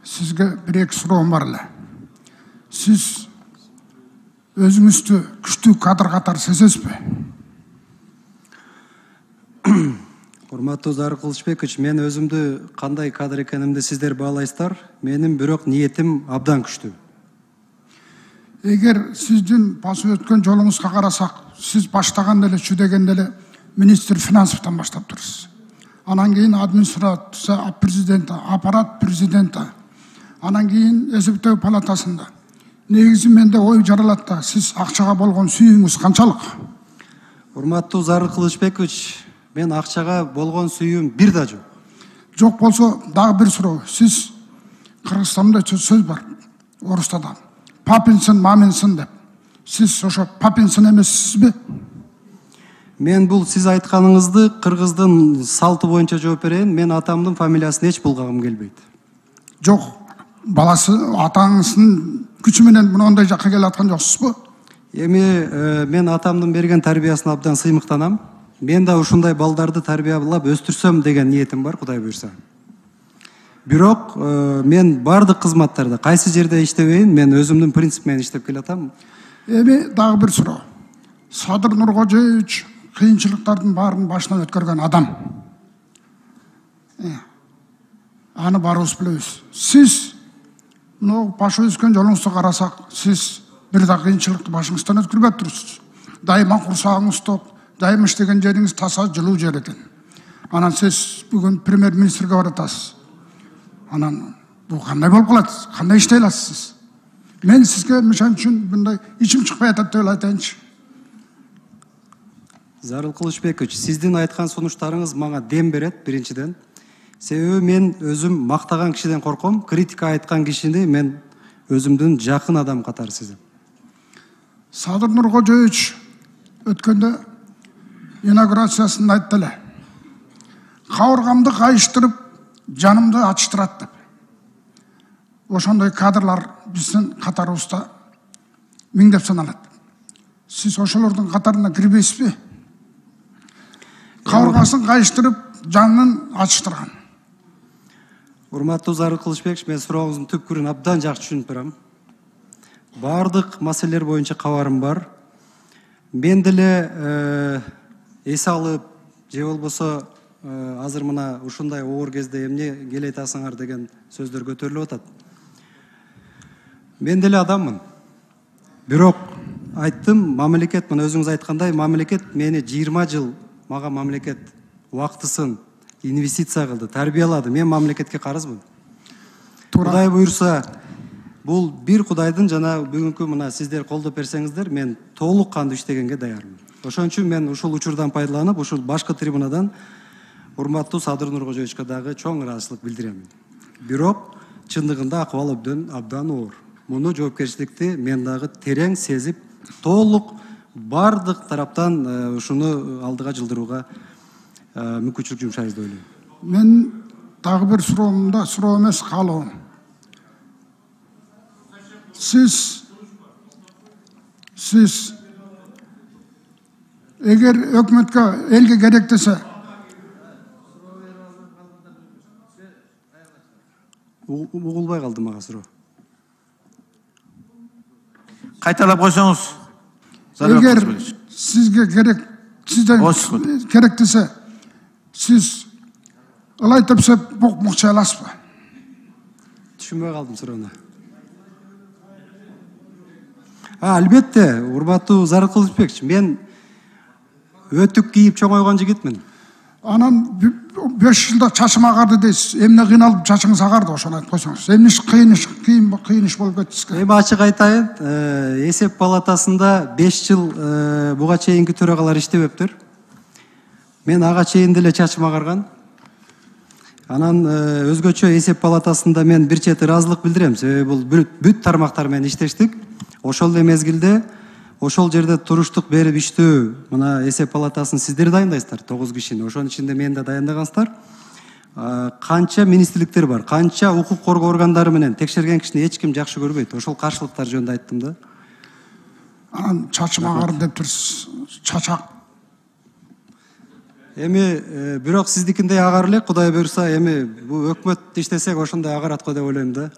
Сизге бир-эки суроом бар эле. Сиз өзүңүздү күчтүү кадр катары сезесизби? Урматтуу Зарыл Кылычбекович, мен өзүмдү кандай кадр экенимди сиздер баалайсыздар. Менин бирок ниетим абдан күчтүү. Эгер сиздин басып өткөн жолуңузга карасак, сиз баштаганда эле чүдөгөндө эле министр финансовдон баштап турсуз. Анан кийин администрация президенти, аппарат президенти, анан кийин эсептөө палатасында. Негизи менде ой жаралат да, сиз акчага болгон сүйүүңүз канчалык? Урматтуу Зарыл Кылычбекович, мен акчага болгон сүйүүм бир да жок. Жок болсо дагы бир суроо. Сиз Кыргызстанда сөз бар, орусча да. Папинсын, маминсын деп. Сиз ошо папинсын эмессизби? Мен бул сиз айтканыңызды кыргыздын салты боюнча жооп берейин. Мен атамдын фамилиясын эч булгагым келбейт. Жок, баласы атаңыздын күчү менен мындай жакка келип аткан жоксузбу? Эми мен атамдын берген тарбиясына абдан сыймыктанам. Мен да ушундай балдарды тарбиялап өстүрсөм деген ниетим бар, Кудай буйрса. Бирок мен бардык кызматтарда кайсы жерде иштебейин, мен өзүмдүн принцип менен иштеп келатам. Эми дагы бир суроо. Садыр Нуркожоевич кыйынчылыктардын баарын башынан өткөргөн адам. Аны баарыбыз билебиз. Сиз башы өскөн жолуңузду карасак, сиз бир да кыйынчылыкты башыңыздан өткөрбөп турсуз. Дайыма курсагыңыз топ, дайыма иштеген жериңиз таза, жылуу жер экен. Анан сиз бүгүн премьер-министрге баратасыз. Анан бул кандай болуп калат? Кандай иштей аласыз? Мен сизге мышан үчүн мындай ичим чыкпай атат деп айтайынчы. Зарыл Кылычбекович, сиздин айткан сунуштарыңыз мага дем берет, биринчиден. Себеби мен өзүм мактаган кишиден корком, критика айткан кишини мен өзүмдүн жакын адам катары сезем. Садыр Нуркожоевич өткөндө инаугурациясында айтты эле. Кабыргамды кайыштырып, жанымды ачыштырат деп. Ошондой кадрлар биздин катарыбызда миңдеп саналат. Сиз ошолордун катарына кирбейсизби? Кабыргасын кайыштырып, жанын ачыштырган. Урматтуу Зарыл Кылычбекович, мен сурооңуздун түпкүрүн абдан жакшы түшүнүп барам. Бардык маселелер боюнча кабарым бар. Мен деле эс алып, же болбосо азыр мына ушундай оор кезде эмне келе айтасыңар деген сөздөр көтөрүлүп атат. Мен деле адаммын. Бирок айттым, мамлекет, мына өзүңүз айткандай, мамлекет мени 20 жыл, мага мамлекет убактысын инвестиция кылды, тарбиялады. Мен мамлекетке карызмын. Кудай буйрса, бул бир Кудайдын жана бүгүнкү мына сиздер колдоп берсеңиздер, мен толук кандуу иштегенге даярмын. Ошон үчүн мен ушул учурдан пайдаланып, ушул башкы трибунадан урматтуу Садыр Нуркожоевичке дагы чоң ыраазычылык билдирем. Бирок чындыгында акыбал абдан оор. Муну жоопкерчиликти мен дагы терең сезип, толук бардык тараптан ушуну алдыга жылдырууга мүмкүнчүлүк жумшайбыз деп ойлойм. Мен дагы бир суроомда, суроо эмес, каалоом. Сиз эгер өкмөткө, элге керек десе, угулбай калды мага суроо. Кайталап койсоңуз. Эгер сизге керек, сизден керек десе, сиз ылай тепсеп мукчай аласызбы? Түшүнбөй калдым суроону. Албетте, урматтуу Зарыл Кылычбекович, мен өтүк кийип чоңойгон жигитмин. Анан 5 жылда чачым агарды дейсиз. Эмне кыйналып чачыңыз агарды, ошону айтып койсоңуз. Эмне кыйыныш болуп кетти сизге? Эми ачык айтайын, эсеп палатасында 5 жыл буга чейинки төрагалар иштебептир. Мен ага чейин деле чачым агарган. Анан өзгөчө эсеп палатасында мен бир чети ыраазычылык билдирем. Себеби бул бүт тармактар менен иштештик. Ошол эле мезгилде ошол жерде туруштук берип иштөө, мына эсеп палатасын сиздер дайындайсыздар, 9 кишини. Ошонун ичинде мени да дайындагансыздар. Канча министрликтер бар, канча укук коргоо органдары менен текшерген кишини эч ким жакшы көрбөйт. Ошол каршылыктар жөнүндө айттым да. Анан чачым агарды деп турсуз. Чачак Эми бирок сиздикиндей агар элек, Кудай буюрса, эми бул өкмөт иштесек ошондой агарат го деп ойлойм да.